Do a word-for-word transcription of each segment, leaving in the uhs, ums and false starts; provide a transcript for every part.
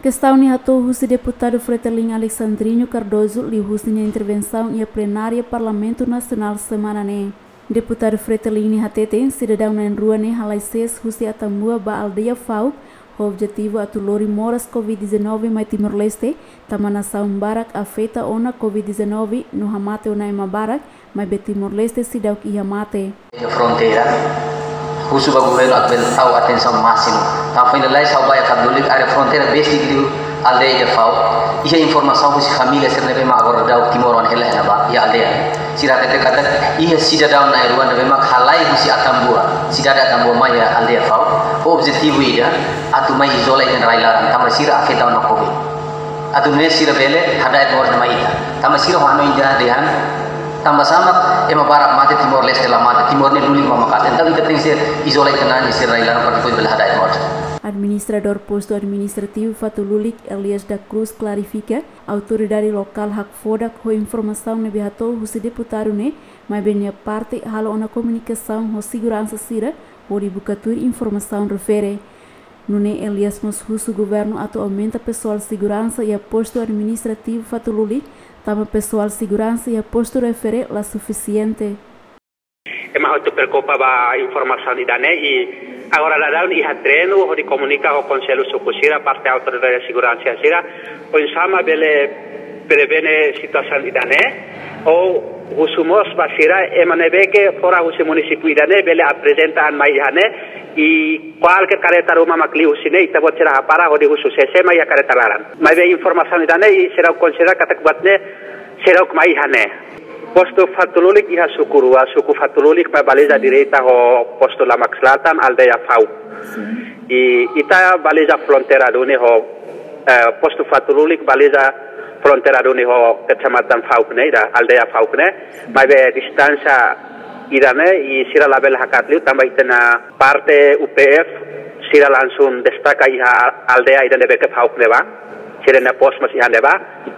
Kestaun ne'e hato'o husi Deputadu Fretilin Alexandrino Cardoso liuhusi nia intervensaun iha plenária Parlamentu Nasionál semana ne'e. Deputadu Fretilin ne'e hateten sidadaun na'in-rua ne'e halai sees husi Atambua ba aldeia Fauk, ho objetivu atu lori moras covid dezanove mai Timor-Leste, tanba nasaun barak afeta ona covid dezanove no hamate ona ema barak, maibé Timor-Leste seidauk iha mate. Iha fronteira, husu ba governu atu bele tau atensaun másimu. Tanba foin lalais ha'u bá iha Fatulilik, área fronteira besik liu aldeia Fauk. Iha informasaun husi família sira ne'ebé mak agora daudaun timoroan hela iha ne'ebá, iha aldeia. Sira hatete katak iha sidadaun na'in-rua ne'ebé mak halai husi Atambua, sidade Atambua mai iha aldeia Fauk. Ho objetivu ida, atu mai izola ita-nia rai-laran, tanba sira afeta ona covid. Atu nune'e sira bele hada'et moras mai ita. Tanba sira ho hanoin ida dehan, tanba sá mak ema barak mate, Timor-Leste la mate, Timor ne'e lulik mak maka'as. Entaun ita tenke izola ita-nia an, sira rai-laran para depois bele hada'et moras. Administradór Postu Administrativu Fatulilik, Elias da Cruz, klarifika, autoridade lokál hakfodak ho informasaun ne'ebé hato'o husi deputadu ne'e, maibé nia parte halo ona komunikasaun ho seguransa sira hodi buka tuir informasaun refere. Nune'e Elias mós husu governu atu aumenta pesoál seguransa iha Postu Administrativu Fatulilik, tanba pesoál seguransa iha postu refere la sufisiente. Ema hotu preokupa ba informasaun ida-ne'e, i agora daudaun iha treinu hodi komunika ho konsellu suku sira, parte autoridade seguransa sira, oinsá mak bele prevene situasaun ida-ne'e. Ou husu mós ba sira, ema ne'ebé ke fora husi munisípiu ida-ne'e bele aprezenta an mai iha ne'e, i kualkér karreta ruma mak liu husi ne'e, ita-boot sira hapara hodi husu sé-sé mak iha karreta laran. Maibé informasaun ida-ne'e, i sira konsidera katak buat ne'e seidauk mai iha ne'e. Postu Fatulilik iha suku rua, suku Fatulilik mak baliza direta ho postu Lamak Selatan, aldeia Fauk. I ita baliza fronteira duni ho, eh, postu Fatulilik baliza fronteira duni ho kecamatan Fauk ne'e, ida aldeia Fauk ne'e. Maibé distánsia ida-ne'e, i sira labele hakat liu, tanba ita-nia parte U P F, sira langsung destaka iha aldeia ida ne'ebé ke Fauk ne'ebá. Sira-nia pos mós iha ne'ebá.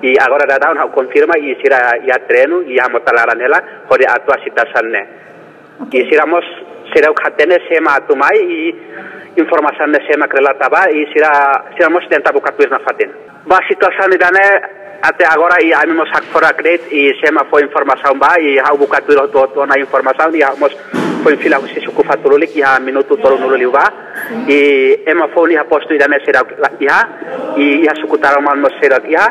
I agora daudaun ha'u konfirma, i sira iha treinu, i hamota laran hela hodi atu asista situasaun ne'e. Oke. I sira mós seidauk hatene sé mak atu mai, i informasaun ne'e sé mak relata ba, i sira, sira mós tenta buka tuir nafatin. Ba situasaun ida-ne'e, até agora, i ami mós hakfodak de'it, i sé mak fó informasaun ba, i ha'u buka tuir hotu-hotu ona informasaun, i ha'u mós foin fila husi suku Fatulilik iha minutu tolunulu liubá. I ema foun iha postu ida-ne'e seidauk iha, i iha suku Taroman mós seidauk iha,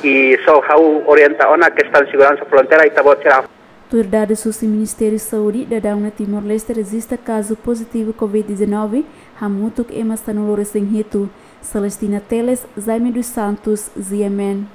i só ha'u orienta ona kestaun seguransa fronteira, ita-boot sira. Tuir dadus husi Ministériu Saúde, daudaun ne'e Timor-Leste rejista kazu pozitivu covid dezanove, hamutuk ema sanulu-resin-hitu. Celestina Teles, Jaime dos Santos, G M N.